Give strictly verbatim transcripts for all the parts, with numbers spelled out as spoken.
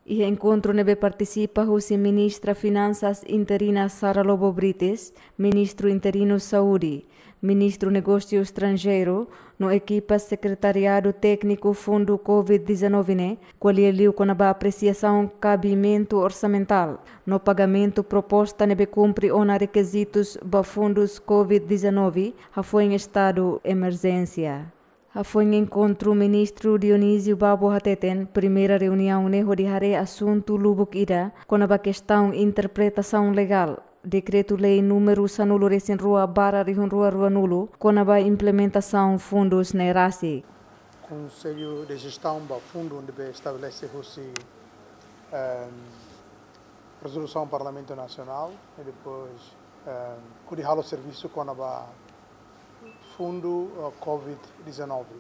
Iha enkontru ne'ebé partisipa husi Ministra Finansas interina Sara Lobo Brites, Ministru interinu Saúde, Ministru Negósiu Estranjeiru, no ekipa Sekretariadu Tékniku Fundu covid dezanove ne'e, ko'alia liu kona-ba apresiasaun kabimentu orsamentál no pagamentu proposta ne'ebé kumpre ona rekizitus ba fundus covid dezanove hafoin estadu emerjénsia. Hafoin enkontru, Ministru Dionísio Babo hateten, primeira reuniaun ne'e hodi haree asuntu lubuk ida kona-ba kestaun interpretasaun legál Dekretu-Lei númeru sanulu-resin-rua barra rihun rua ruanulu, kona-ba implementasaun fundus ne'e rasik. Konsellu de Jestaun ba fundu ne'ebé estabelese husi, ehm, rezolusaun Parlamentu Nasionál, i depois, ehm, hodi halo servisu kona-ba fundu, eh, covid dezanove.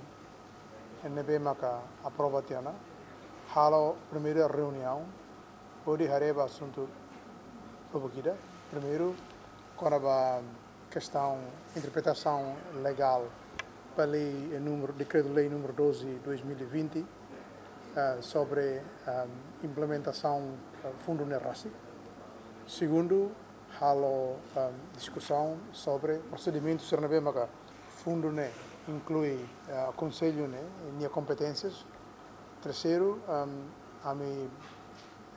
Ne'ebé maka aprova tiha ona, halo primeira reuniaun, hodi haree ba asuntu lubuk ida. Primeiru, kona-ba kestaun interpretasaun legál ba lei, eh, númeru, Dekretu-Lei númeru doze dois mil e vinte, eh, sobre, eh, implementasaun, eh, fundu ne'e rasik. Segundu, halo, eh, diskusaun sobre prosedimentu sira ne'ebé maka fundu ne'e inklui, eh, konsellu ne'e, nia kompeténsias. Terseiru, ehm, ami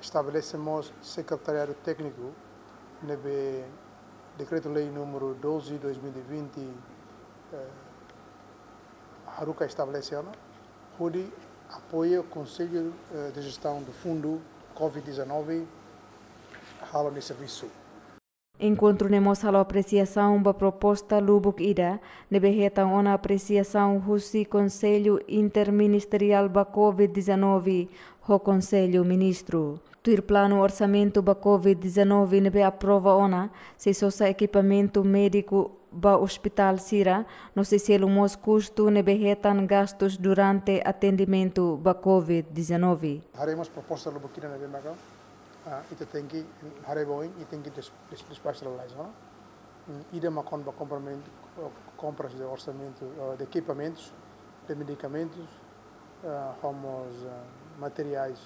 estabelese mós sekretariadu tékniku ne'ebé Dekretu-Lei númeru doze dois mil e vinte, eh, haruka estabelese ona, hodi apoia Konsellu, eh, de Jestaun do Fundu covid dezanove halo nia servisu. Enkontru ne'e mós halo apresiasaun ba proposta lubuk ida ne'ebé hetan ona apresiasaun husi Konsellu Interministeriál ba covid dezanove ho Konsellu Ministru. Tuir planu orsamentu ba covid dezanove ne'ebé aprova ona, sei sosa ekipamentu médiku ba ospitál sira, no sei selu mós kustu ne'ebé hetan gastus durante atendimentu ba covid dezanove. Haree mós proposta lubuk ida ne'ebé maka, ah, ita tenke haree ba oin, ita tenke des-, des-, despaxa lalais, no? Mm, ida mak kona-ba kompramentu, eh, kompras de orsamentu, eh, de ekipamentus, de medikamentus, eh, ho mós, eh, materiais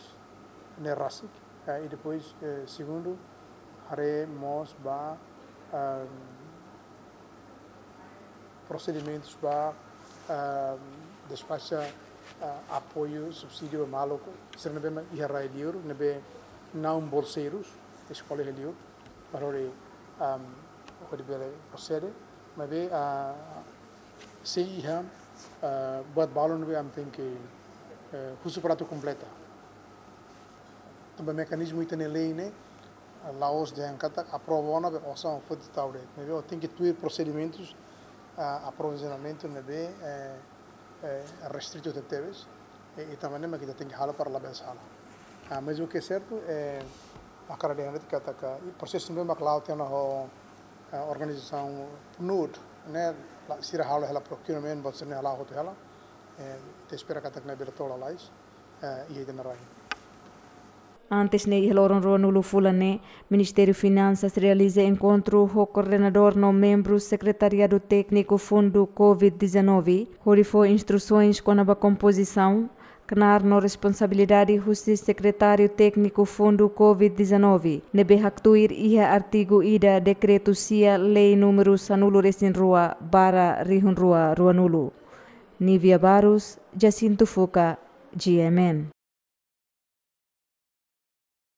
ne'e rasik. Eh, i depois, eh, segundu, haree mós ba, ehm, prosedimentus ba, ehm, despaxa, eh, apoiu, subsídiu ba maluk sira ne'ebé mak iha rai liur, ne'ebé não bolseirus, eskola iha liur, para hodi, ehm, hodi bele prosede, maibé, ah, sei iha, ah, buat balun ne'ebé ami tenke, eh, husu para atu kompleta. Tanba mekanizmu ita-nia lei ne'e, ah, la'ós dehan katak aprova ona be osan foti tau de'it. Maibé ó tenke tuir prosedimentus, ah, aprovizionamentu ne'ebé, eh, eh, restritu tebetebes. I, i tanba ne'e mak ita tenke halo para labele sala. Ah, mas o que é certo, eh, hakarak dehan de'it katak, i prosesu ne'ebé mak la'o tiha ona ho, eh, organizasaun PNUD, ne'e, la, sira halo hela procurement, buat sira-ne'e hala'o hotu hela. Eh, ita espera katak ne'e bele to'o lalais, eh, iha ita-nia rai. Antes ne'e, iha loron ruanulu fulan ne'e, Ministériu Finansas realiza enkontru ho koordenadór no membru Sekretariadu Tékniku Fundu covid dezanove, hodi fó instrusoens kona-ba kompozisaun, knaar no responsabilidade husi Sekretáriu Tékniku Fundu covid dezanove, ne'ebé haktuir iha artigu ida Dekretu sia Lei númeru sanulu-resin-rua barra rihun rua ruanulu. Nívia Barros, Jacinto Fuca, G M N.